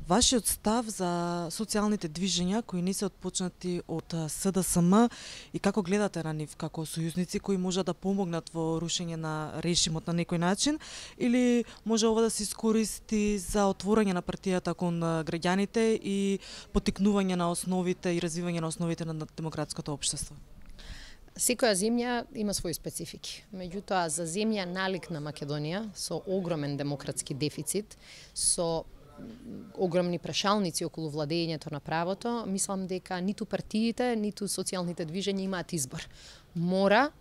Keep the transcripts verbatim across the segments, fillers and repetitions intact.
Вашиот став за социјалните движења кои не се отпочнати од С Д С М и како гледате на нив како сојузници кои можат да помогнат во рушење на режимот на некој начин, или може ова да се искористи за отворање на партијата кон граѓаните и поттикнување на основите и развивање на основите на демократското општество? Секоја земја има своји специфики. Меѓутоа, за земја налик на Македонија, со огромен демократски дефицит, со огромни прашалници околу владењето на правото, мислам дека ниту партиите, ниту социјалните движења имаат избор. Мора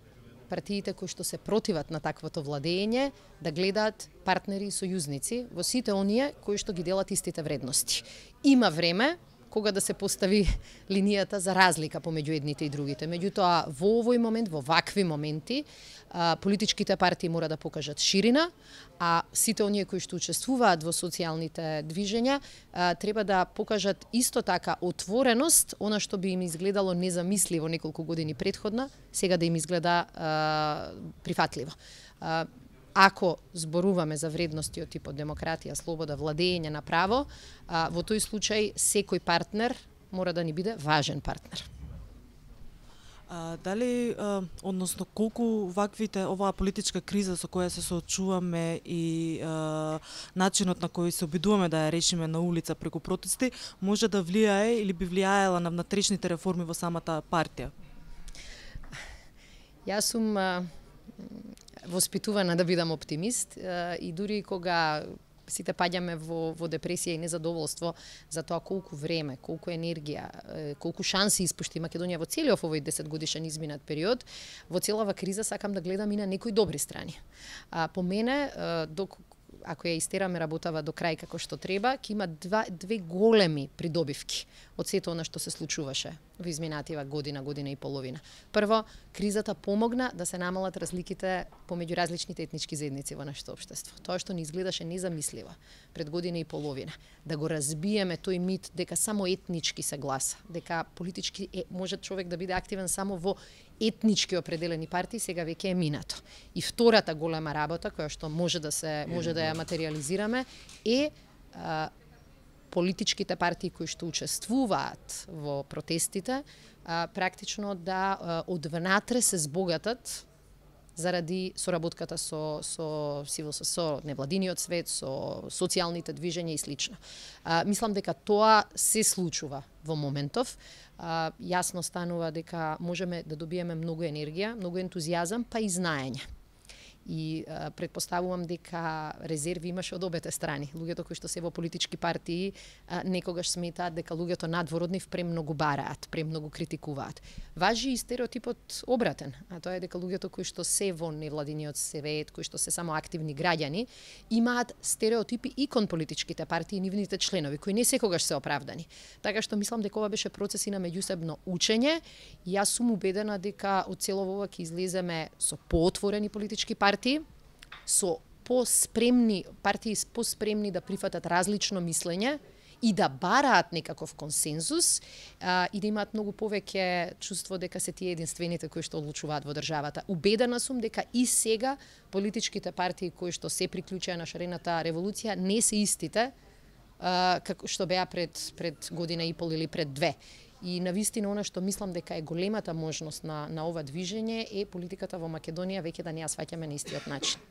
партиите кои што се противат на таквото владење да гледаат партнери и сојузници во сите оние кои што ги делат истите вредности. Има време кога да се постави линијата за разлика помеѓу едните и другите. Меѓутоа, во овој момент, во вакви моменти, политичките партии мора да покажат ширина, а сите оние кои што учествуваат во социјалните движења треба да покажат исто така отвореност, она што би им изгледало незамисливо неколку години претходна, сега да им изгледа прифатливо. Ако зборуваме за вредности од типот демократија, слобода, владење на право, во тој случај секој партнер мора да ни биде важен партнер. А, дали, а, односно, колку ваквите, оваа политичка криза со која се соочуваме и а, начинот на кој се обидуваме да ја решиме на улица преку протести, може да влијае или би влијаела на внатрешните реформи во самата партија? Јас сум а, воспитувана да бидам оптимист и дури кога сите паѓаме во, во депресија и незадоволство за тоа колку време, колку енергија, колку шанси испушти Македонија во целиот овој десетгодишен изминат период, во целава криза сакам да гледам и на некои добри страни. А, по мене, док, ако ја истераме работава до крај како што треба, ќе има два, две големи придобивки од сето она што се случуваше во изминатива година, година и половина. Прво, кризата помогна да се намалат разликите помеѓу различните етнички заедници во нашето општество. Тоа што ни изгледаше незамисливо пред година и половина. Да го разбиеме тој мит дека само етнички се гласа, дека политички е, може човек да биде активен само во етнички определени партии, сега веќе е минато. И втората голема работа која што може да се може да ја материализираме е а, политичките партии кои што учествуваат во протестите, а, практично да а, од внатре се збогатат заради соработката со со сивил со невладиниот свет, со социјалните движења и слично. А, мислам дека тоа се случува во моментов. А, јасно станува дека можеме да добиеме многу енергија, многу ентузијазам, па и знаење. И а, предпоставувам дека резерви имаше од обете страни. Луѓето кои што се во политички партии а, некогаш сметаат дека луѓето надвор од нив премногу бараат, премногу критикуваат. Важи и стереотипот обратен, а тоа е дека луѓето кои што се во невладиниот свет, кои што се само активни граѓани, имаат стереотипи и кон политичките партии и нивните членови, кои не секогаш се оправдани. Така што мислам дека ова беше процес и на меѓусебно учење и јас сум убедена дека од цело ова ќе излеземе со поотворени политички партии, со поспремни партии поспремни да прифатат различно мислење и да бараат некаков консензус а, и да имаат многу повеќе чувство дека се тие единствените кои што одлучуваат во државата. Убедена сум дека и сега политичките партии кои што се приклучија на шарената револуција не се истите а, како што беа пред пред година и пол или пред две. И навистина она што мислам дека е големата можност на на ова движење е политиката во Македонија веќе да не ја сваќаме на истиот начин.